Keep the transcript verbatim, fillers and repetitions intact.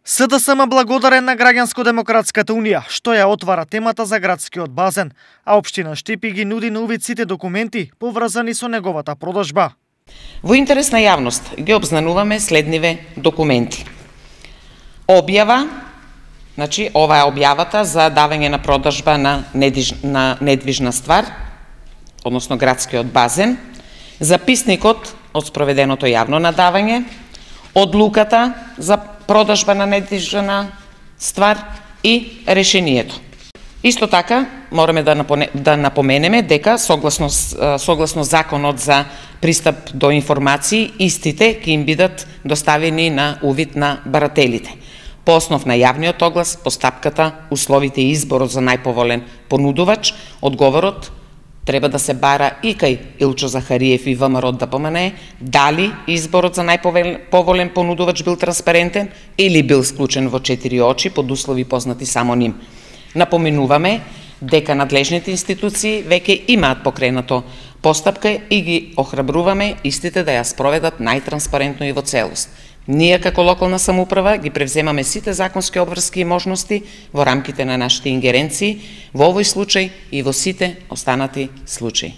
С Д С М благодарен на Граѓанско-демократската унија, што ја отвара темата за градскиот базен, а општина Штипи ги нуди на увид сите документи поврзани со неговата продажба. Во интерес на јавност ги обзнануваме следниве документи. Објава, значи ова е објавата за давање на продажба на, недвиж, на недвижна ствар, односно градскиот базен, записникот од спроведеното јавно надавање, одлуката за продажба на недвижна ствар и решението. Исто така, мораме да, напоне, да напоменеме дека согласно, согласно законот за пристап до информации, истите ќе им бидат доставени на увид на барателите. По основ на јавниот оглас, постапката, условите и изборот за најповолен понудувач, одговорот треба да се бара и кај Илчо Захариев и В М Р од Д П М Н Е, дали изборот за најповолен понудувач бил транспарентен или бил склучен во четири очи под услови познати само ним. Напоменуваме дека надлежните институции веќе имаат покренато постапка и ги охрабруваме истите да ја спроведат најтранспарентно и во целост. Ние како локална самоуправа ги превземаме сите законски обврски и можности во рамките на нашите ингеренции, во овој случај и во сите останати случаи.